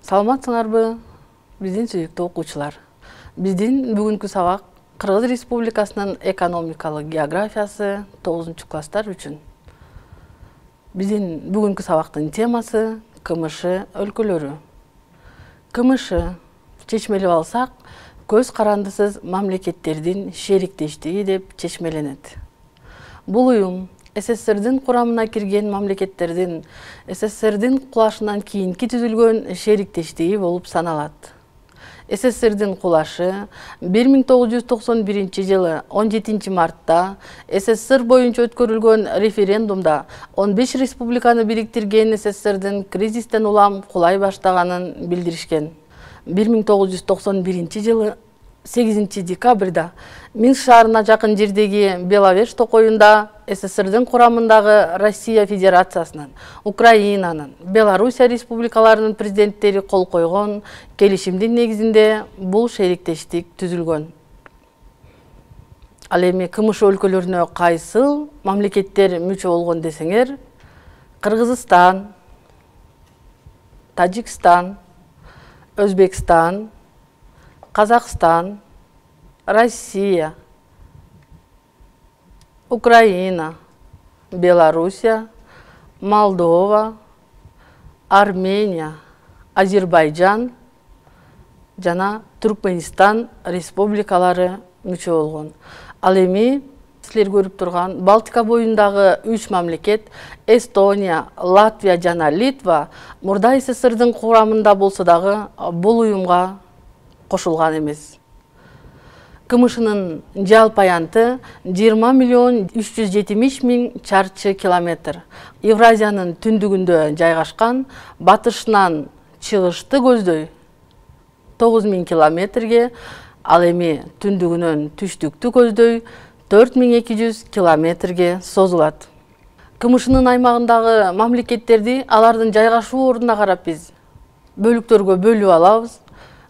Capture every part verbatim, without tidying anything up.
Саламатсыңарбы, биздин сүйүктүү окуучулар. Биздин бүгүнкү сабак Кыргыз Республикасынын экономикалык географиясы тогузунчу класстар үчүн. Биздин бүгүнкү сабактын темасы КМШ өлкөлөрү. КМШ чечмелеп алсак, көз карандысыз мамлекеттердин шериктештиги деп чечмеленет. Бул уюм СССРдин курамына кирген мамлекеттердин СССРдин кулашынан кийинки түзүлгөн шериктештиги болуп саналат. СССРдин кулашы бир миң тогуз жүз токсон биринчи жылы он жетинчи мартта СССР боюнча өткөрүлгөн референдумда он беш республиканы бириктирген СССРдин кризистен улам кулай баштаганын билдиришкен. бир миң тогуз жүз токсон биринчи жылы сегизинчи декабрда Минск шаарына жакын жердеги Беловеж токоюнда СССРдин курамындагы Россия Федерациясынын, Украинанын, Белоруссия республикаларынын президенттери кол койгон келишимдин негизинде бул шериктештик түзүлгөн. Ал эми КМШ өлкөлөрүнө кайсыл мамлекеттер мүчө болгон десеңер, Кыргызстан, Тажикстан, Өзбекстан, Казакстан, Россия, Украина, Белоруссия, Молдова, Армения, Азербайджан жана Түркменистан республикалары мүчө болгон. Ал эми силер көрүп турган Балтика боюндагы үч мамлекет Эстония, Латвия жана Литва мурда СССРдин курамында болсо дагы бул уюмга кошулган эмес. КМШнын жалпы аянты жыйырма миллион үч жүз жетимиш миң чарчы километр. Евразиянын түндүгүндө жайгашкан, батышынан чыгышты көздөй тогуз миң километрге, ал эми түндүгүнөн түштүктү көздөй төрт миң эки жүз километрге созулат. КМШнын аймагындагы мамлекеттерди алардын жайгашуу ордуна карап биз бөлүктөргө бөлүп алабыз.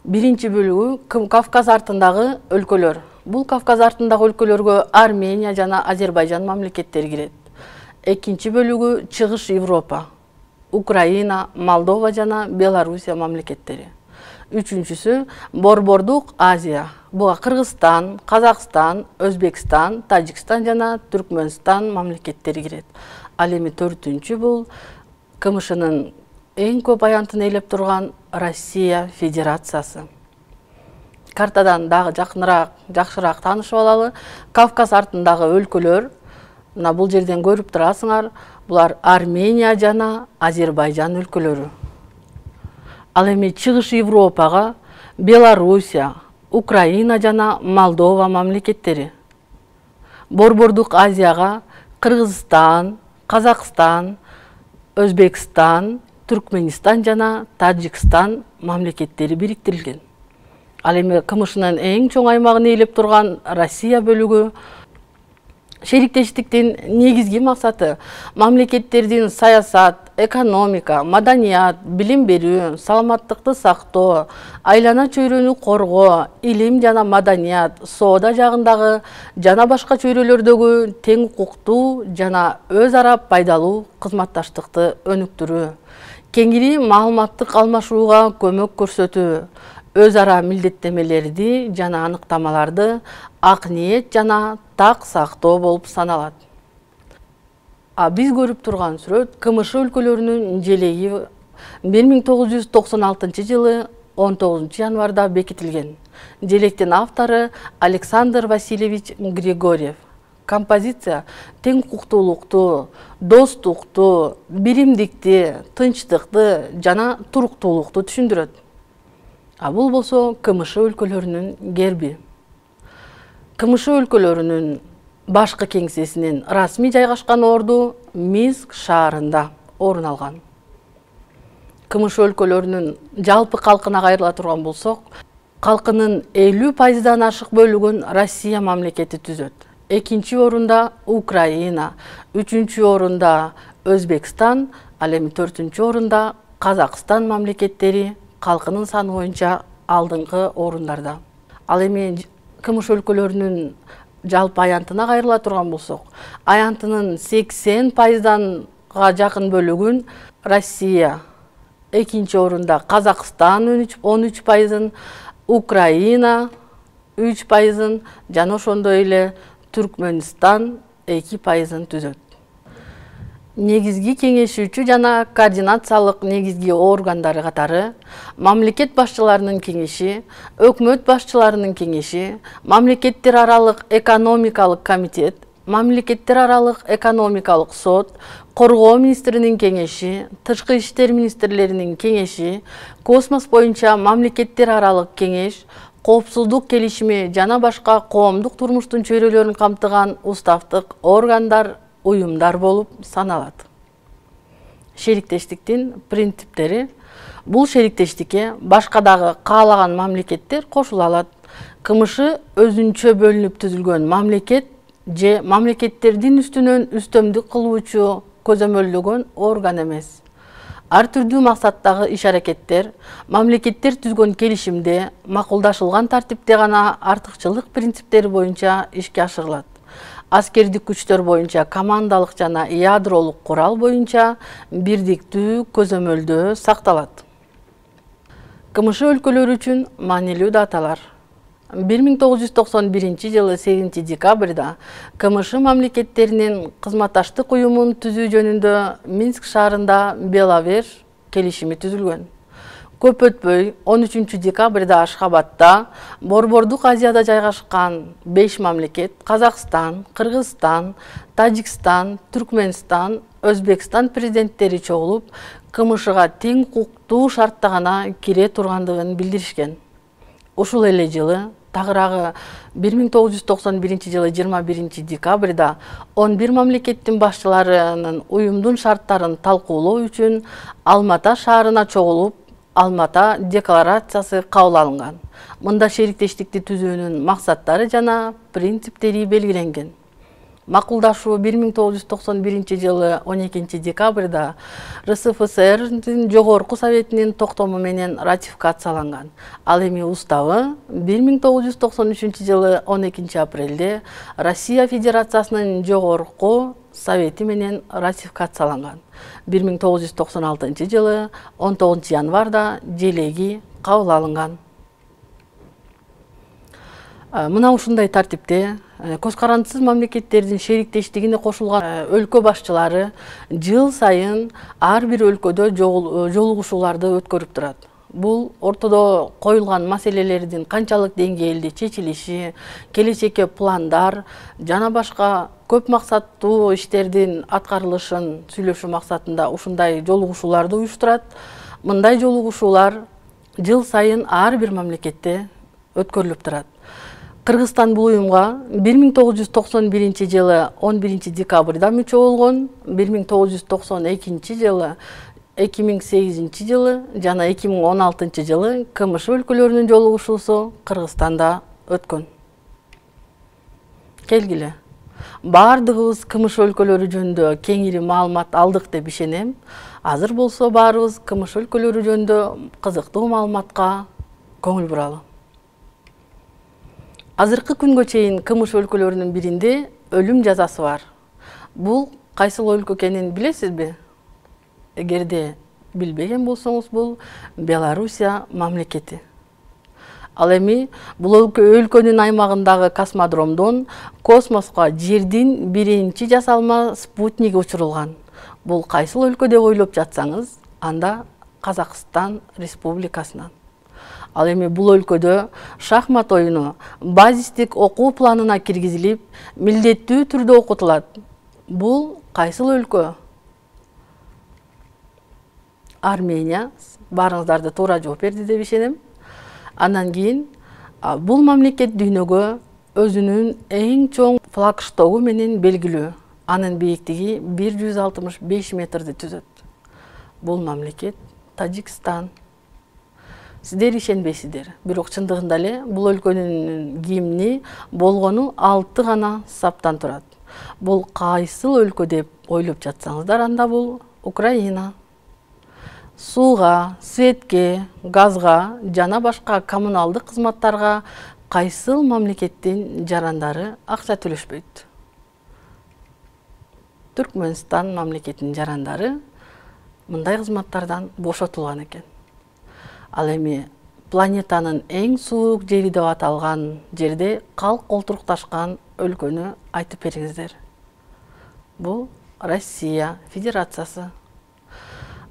Биринчи бөлүгү Кавказ артындагы өлкөлөр. Бул Кавказ артындагы өлкөлөргө Армения жана Азербайджан мамлекеттери кирет. Экинчи бөлүгү Чыгыш Европа, Украина, Молдова жана Белоруссия мамлекеттери. Үчүнчүсү Борбордук Азия. Буга Кыргызстан, Казакстан, Өзбекстан, Тажикстан жана Түркмөнстан мамлекеттери кирет. Ал эми төртүнчү бул КМШнын эң көп аянтын ээлеп турган Россия Федерациясы. Картадан дагы жакыныраак, жакшыраак таанышып алалы. Кавказ артындагы өлкөлөр, мына бул жерден көрүп турасыңар, булар Армения жана Азербайджан өлкөлөрү. Ал эми Чыгыш Европага Белоруссия, Украина жана Молдова мамлекеттери. Борбордук Азияга Кыргызстан, Казакстан, Өзбекстан, Түркменистан жана Тажикстан мамлекеттери бириктирилген. Ал эми КМШнын эң чоң аймагын ээлеп турган Россия бөлүгү шериктештиктин негизги максаты мамлекеттердин саясат, экономика, маданият, билим берүү, саламаттыкты сактоо, айлана чөйрөнү коргоо, илим жана маданият, соода жагындагы жана башка чөйрөлөрдөгү тең укуктуу жана өз ара пайдалуу кызматташтыкты өнүктүрүү, кеңири маалыматтык алмашууга көмөк көрсөтүү, өз ара милдеттемелерди жана аныктамаларды ак ниет жана так сактоо болуп саналат. А биз көрүп турган сүрөт КМШ өлкөлөрүнүн желеги бир миң тогуз жүз токсон алтынчы жылы он тогузунчу январда бекитилген. Желектин автору Александр Васильевич Григорьев. Композиция тең укуктуулукту, достукту, биримдикти, тынчтыкты жана туруктуулукту түшүндүрөт. А бул болсо КМШ өлкөлөрүнүн герби. КМШ өлкөлөрүнүн башкы кеңсесинин расмий жайгашкан орду Минск шаарында орун алган. КМШ өлкөлөрүнүн жалпы калкына кайрыла турган болсок, калкынын элүү пайыздан ашык бөлүгүн Россия мамлекети түзөт. Экинчи орунда Украина, үчүнчү орунда Өзбекстан, ал эми төртүнчү орунда Казакстан мамлекеттери калкынын саны боюнча алдыңкы орундарда. Ал эми КМШ өлкөлөрүнүн жалпы аянтына кайрыла турган болсок, аянтынын сексен пайызданга жакын бөлүгүн Россия экинчи орунда Казакстан он үч пайызын, Украина үч пайызын жана ошондой эле Түркмөнстан эки пайызын түзөт. Негизги кеңешүүчү жана координациялык негизги органдары катары мамлекет башчыларынын кеңеши, өкмөт башчыларынын кеңеши, мамлекеттер аралык экономикалык комитет, мамлекеттер аралык экономикалык сот, коргоо министринин кеңеши, тышкы иштер министрлеринин кеңеши, космос боюнча мамлекеттер аралык кеңеш, коопсуздук келишими жана башка коомдук турмуштун чөйрөлөрүн камтыган уставдык органдар, уюмдар болуп саналат. Шериктештиктин принциптери. Бул шериктештикке башка дагы каалаган мамлекеттер кошула алат. КМШ өзүнчө бөлүнүп түзүлгөн мамлекет же мамлекеттердин үстүнөн үстөмдүк кылуучу көзөмөлдөгөн орган эмес. Ар түрдүү максаттагы иш-аракеттер мамлекеттер түзгөн келишимде макулдашылган тартипте гана артыкчылык принциптери боюнча ишке ашырылат. Аскердик күчтөр боюнча командалык жана ядролук курал боюнча бирдиктүү көзөмөлдөө сакталат. КМШ өлкөлөрү үчүн маанилүү даталар. бир миң тогуз жүз токсон биринчи жылы сегизинчи декабрда КМШ мамлекеттеринин кызматташтык уюмун түзүү жөнүндө Минск шаарында Беловеж келишими түзүлгөн. Көп өтпөй он үчүнчү декабрда Ашхабадда Борбордук Азияда жайгашкан беш мамлекет Казакстан, Кыргызстан, Тажикстан, Түркмөнстан, Өзбекстан президенттери чогулуп, КМШга тең укуктуу шартта гана кире тургандыгын билдиришкен. Ушул эле жылы тагыраагы бир миң тогуз жүз токсон биринчи жылы жыйырма биринчи декабрда он бир мамлекеттин башчыларынын уюмдун шарттарын талкуулоо үчүн Алмата шаарына чогулуп, Алмата декларациясы кабыл алынган. Мында шериктештикти түзүүнүн максаттары жана принциптери белгиленген. Макулдашуу бир миң тогуз жүз токсон биринчи жылы он экинчи декабрда РСФСРдин жогорку советинин токтому менен ратификацияланган. Ал эми уставы бир миң тогуз жүз токсон үчүнчү жылы он экинчи апрелде Россия Федерациясынын жогорку совети менен ратификацияланган. бир миң тогуз жүз токсон алтынчы жылы он тогузунчу январда желеги кабыл алынган. Мына ушундай тартипте көз карандысыз мамлекеттердин шериктештигине кошулган өлкө башчылары жыл сайын ар бир өлкөдө жолугушууларды өткөрүп турат. Бул ортодо коюлган маселелердин канчалык деңгээлде чечилиши, келечекке пландар жана башка көп максаттуу иштердин аткарылышын сүйлөшүү максатында ушундай жолугушууларды уюштурат. Мындай жолугушуулар жыл сайын ар бир мамлекетте өткөрүлүп турат. Кыргызстан бул уюмга бир миң тогуз жүз токсон биринчи жылы он биринчи декабрда мүчө болгон, бир миң тогуз жүз токсон экинчи жылы эки миң сегизинчи жылы жана эки миң он алтынчы жылы КМШ өлкөлөрүнүн жолугушуусу Кыргызстанда өткөн. Келгиле. Бардыгыбыз КМШ өлкөлөрү жөнүндө кеңири маалымат алдык деп ишенем. Азыр болсо баарыбыз КМШ өлкөлөрү жөнүндө кызыктуу маалыматка көңүл буралы. Азыркы күнгө чейин КМШ өлкөлөрүнүн биринде өлүм жазасы бар. Бул кайсыл өлкө экенин билесизби? Эгерде билбеген болсоңуз, бул Белоруссия мамлекети. Ал эми бул өлкөнүн аймагындагы космодромдон космоско жердин биринчи жасалма спутниги учурулган. Бул кайсыл өлкө деп ойлоп жатсаңыз, анда Казакстан Республикасынан. Ал эми бул өлкөдө шахмат оюну базистик окуу планына киргизилип, милдеттүү түрдө окутулат. Бул кайсыл өлкө? Армения. Баарыңыздарды туура жооп берди деп ишенем. Андан кийин бул мамлекет дүйнөгө өзүнүн эң чоң флагштогу менен белгилүү. Анын бийиктиги бир жүз алтымыш беш метрди түзөт. Бул мамлекет Тажикстан. Сиздер ишенбейсиздер, бирок чындыгында эле бул өлкөнүн гимни болгону алты гана саптан турат. Бул кайсыл өлкө деп ойлоп жатсаңыздар, анда бул Украина. Сууга, светке, газга жана башка коммуналдык кызматтарга кайсыл мамлекеттин жарандары акча төлөшпөйт? Түркмөнстан мамлекетинин жарандары мындай кызматтардан бошотулган экен. Ал эми планетанын эң суук жери деп аталган жерде калк олтурукташкан өлкөнү айтып бериңиздер. Бул Россия Федерациясы.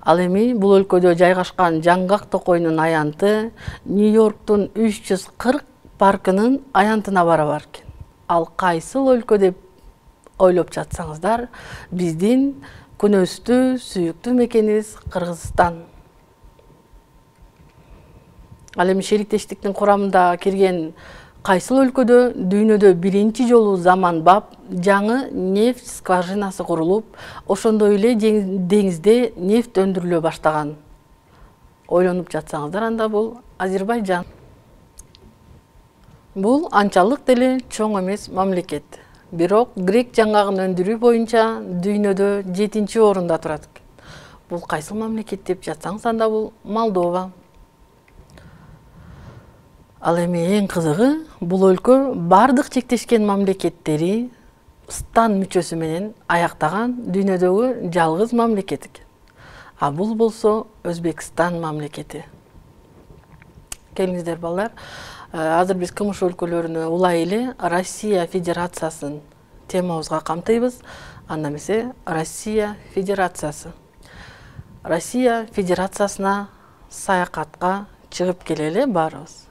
Ал эми бул өлкөдө жайгашкан жаңгак токойнун аянты Нью-Йорктун үч жүз кырк паркынын аянтына барабар экен. Ал кайсыл өлкө деп ойлоп жатсаңыздар, биздин күнөстүү сүйүктүү мекенибиз Кыргызстан. Ал эми шериктештиктин курамында кирген кайсыл өлкөдө дүйнөдө биринчи жолу заманбап жаңы нефть скважинасы курулуп, ошондой эле деңизде нефть өндүрүлө баштаган. Ойлонуп жатсаңыздар, анда бул Азербайжан. Бул анчалык деле чоң эмес мамлекет. Бирок грек жаңгагын өндүрүү боюнча дүйнөдө жетинчи орунда турат экен. Бул кайсыл мамлекет деп жатсаңыз, анда бул Молдова. Ал эми эң кызыгы, бул өлкө бардык чектешкен мамлекеттери стан мүчөсү менен аяктаган дүйнөдөгү жалгыз мамлекет экен. А бул болсо Өзбекстан мамлекети. Келиңиздер балдар, азыр биз кымыш өлкөлөрүнө улай эле Россия Федерациясын темабызга камтыйбыз. Анда эмесе Россия Федерациясы. Россия Федерациясына саякатка чыгып келели баарыбыз.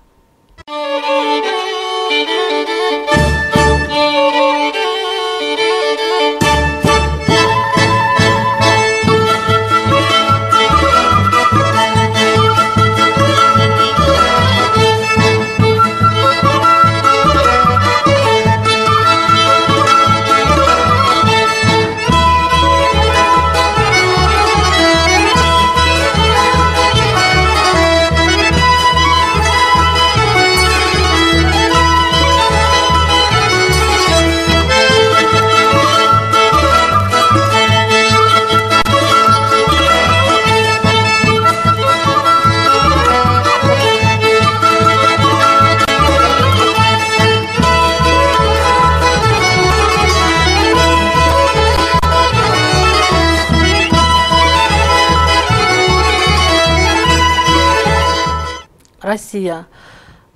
Россия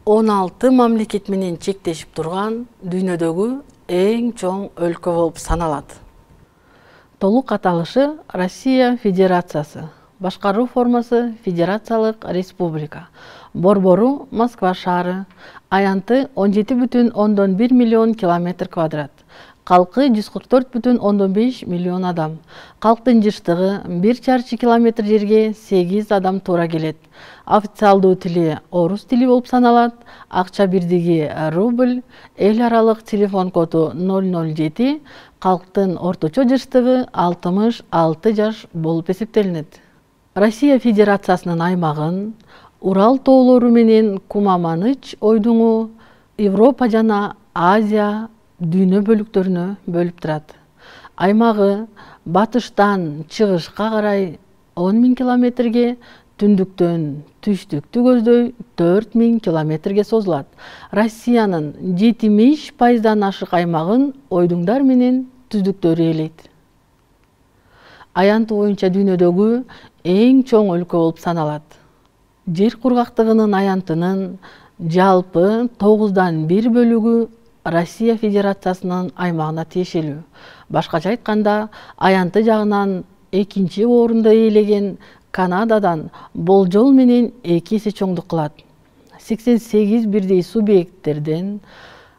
он алты мамлекет менен чектешип турган дүйнөдөгү эң чоң өлкө болуп саналат. Толук аталышы Россия Федерациясы. Башкаруу формасы Федерациялык Республика. Борбору Москва шаары. Аянты он жети бүтүн ондон бир миллион километр квадрат. Калкы жүз кырк төрт бүтүн ондон беш миллион адам. Калктын жыштыгы бир чарчы километр жерге сегиз адам туура келет. Официалдуу тили орус тили болуп саналат. Акча бирдиги рубль, эл аралык телефон коду ноль ноль жети, калктын орточо жыштыгы алтымыш алты жаш болуп эсептелинет. Россия Федерациясынын аймагын Урал тоолору менен Кума-Маныч ойдуңу, Европа жана Азия дүйнө бөлүктөрүнө бөлүп турат. Аймагы батыштан чыгышка карай он миң километрге, түндүктөн түштүктү көздөй төрт миң километрге созулат. Россиянын жетимиш пайыздан ашык аймагын ойдуңдар менен түздүктөрү ээлейт. Аянты боюнча дүйнөдөгү эң чоң өлкө болуп саналат. Жер кургактыгынын аянтынын жалпы тогуздан бир бөлүгү Россия Федерациясынын аймагына тиешелүү. Башкача айтканда, аянты жагынан экинчи орунду ээлеген Канададан болжол менен эки эсе чоңдук кылат. сексен сегиз бирдей субъекттерден,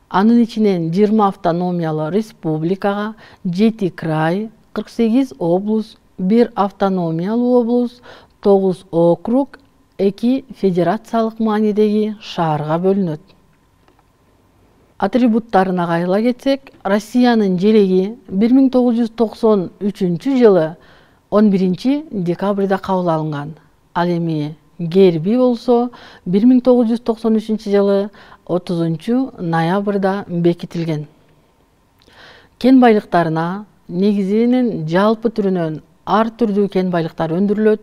анын ичинен жыйырма автономиялуу республикага, жети край, кырк сегиз облус, бир автономиялуу облус, тогуз округ, эки федерациялык маанидеги шаарга бөлүнөт. Атрибуттарына кайрыла кетсек, Россиянын желеги бир миң тогуз жүз токсон үчүнчү жылы он биринчи декабрда кабыл алынган. Ал эми герби болсо бир миң тогуз жүз токсон үчүнчү жылы отузунчу ноябрда бекитилген. Кен байлыктарына негизинен жалпы түрүнөн ар түрдүү кен байлыктар өндүрүлөт.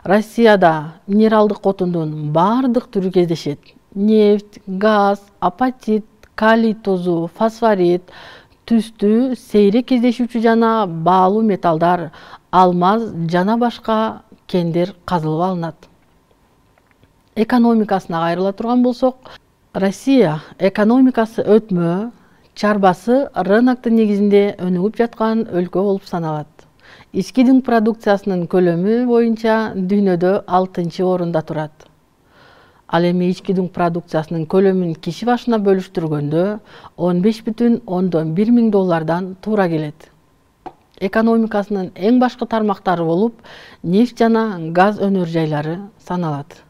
Россияда минералдык отундун бардык түрү кездешет. Нефть, газ, апатит, калий тозу, фосфорит, түстүү, сейрек кездешүүчү жана баалуу металлдар, алмаз жана башка кендер казылып алынат. Экономикасына кайрыла турган болсок, Россия экономикасы өтмө, чарбасы рыноктун негизинде өнүгүп жаткан өлкө болуп саналат. Ички дүң продукциясынын көлөмү боюнча дүйнөдө алтынчы орунда турат. Ал эми ички дүң продукциясынын көлөмүн киши башына бөлүштүргөндө он беш бүтүн ондон бир миң доллардан туура келет. Экономикасынын эң башкы тармактары болуп, нефть жана газ өнөр жайлары саналат.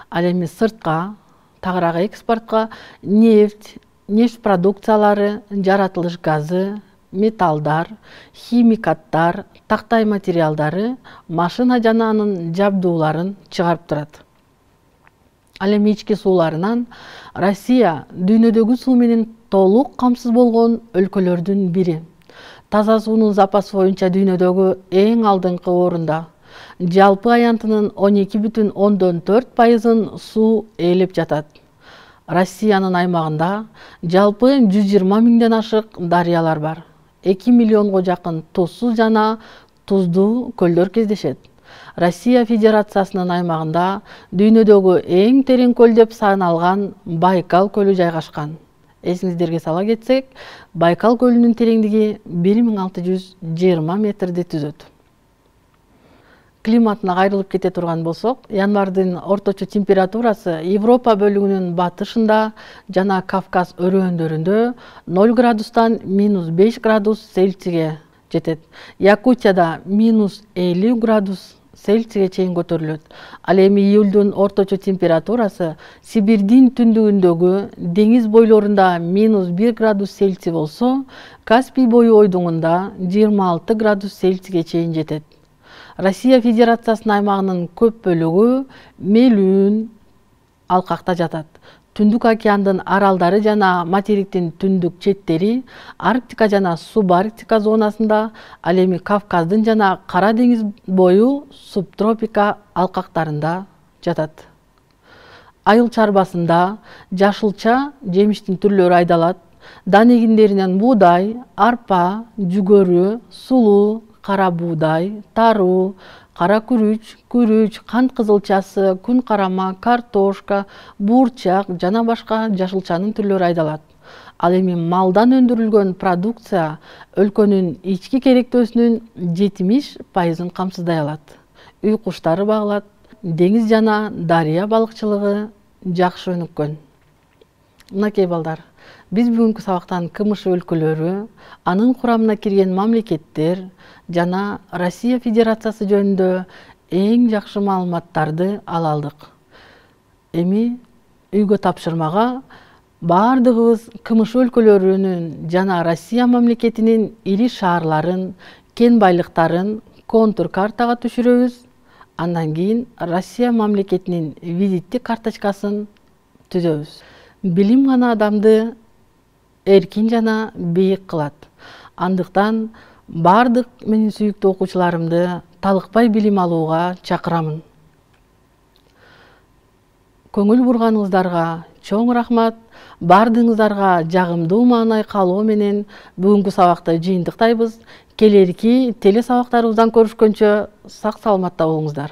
Ал эми сыртка, тагыраак экспортко нефть, нефть продукциялары, жаратылыш газы, металлдар, химикаттар, тактай материалдары, машина жана анын жабдууларын чыгарып турат. Ал эми ички сууларынан Россия дүйнөдөгү суу менен толук камсыз болгон өлкөлөрдүн бири. Таза суунун запасы боюнча дүйнөдөгү эң алдыңкы орунда. Жалпы аянтынын он эки бүтүн ондон төрт пайызын суу ээлеп жатат. Россиянын аймагында жалпы жүз жыйырма миңден ашык дарыялар бар. эки миллионго жакын тузсуз жана туздуу көлдөр кездешет. Россия Федерациясынын аймагында дүйнөдөгү эң терең көл деп саналган Байкал көлү жайгашкан. Эсиңиздерге сала кетсек, Байкал көлүнүн тереңдиги бир миң алты жүз жыйырма метрди түзөт. Климатына кайрылып кете турган болсок, январдын орточо температурасы Европа бөлүгүнүн батышында жана Кавказ өрөөндөрүндө ноль градустан минус беш градус Цельсийге жетет. Якутияда минус элүү градус Цельсийге чейин көтөрүлөт. Ал эми июлдун орточо температурасы Сибирдин түндүгүндөгү деңиз бойлорунда минус бир градус Цельсий болсо, Каспий бою ойдуңунда жыйырма алты градус Цельсийге чейин жетет. Россия Федерациясынын аймагынын көп бөлүгү мелүүн алкакта жатат. Түндүк океандын аралдары жана материктин түндүк четтери Арктика жана субарктика зонасында, ал эми Кавказдын жана Кара деңиз бою субтропика алкактарында жатат. Айыл чарбасында жашылча жемиштин түрлөрү айдалат. Дан эгиндеринен буудай, арпа, жүгөрү, сулуу, кара буудай, таруу, кара күрүч, күрүч, кант кызылчасы, күн карама, картошка, буурчак жана башка жашылчанын түрлөрү айдалат. Ал эми малдан өндүрүлгөн продукция өлкөнүн ички керектөөсүнүн жетимиш пайызын камсыздай алат. Үй куштары багылат, деңиз жана дарыя балыкчылыгы жакшы өнүккөн. Мынакей балдар, биз бүгүнкү сабактан КМШ өлкөлөрү, анын курамына кирген мамлекеттер жана Россия Федерациясы жөнүндө эң жакшы маалыматтарды ала алдык. Эми үйгө тапшырмага баардыгыбыз КМШ өлкөлөрүнүн жана Россия мамлекетинин ири шаарларын, кен байлыктарын контур картага түшүрөбүз. Андан кийин Россия мамлекетинин визиттик карточкасын түзөбүз. Билим гана адамды эркин жана бийик кылат. Андыктан бардык менин сүйүктүү окуучуларымды талыкпай билим алууга чакырамын. Көңүл бурганыңыздарга чоң рахмат. Бардыгыңыздарга жагымдуу маанай каалоо менен бүгүнкү сабакты жыйынтыктайбыз. Келерки теле сабактарыбыздан көрүшкөнчө сак саламатта болуңуздар.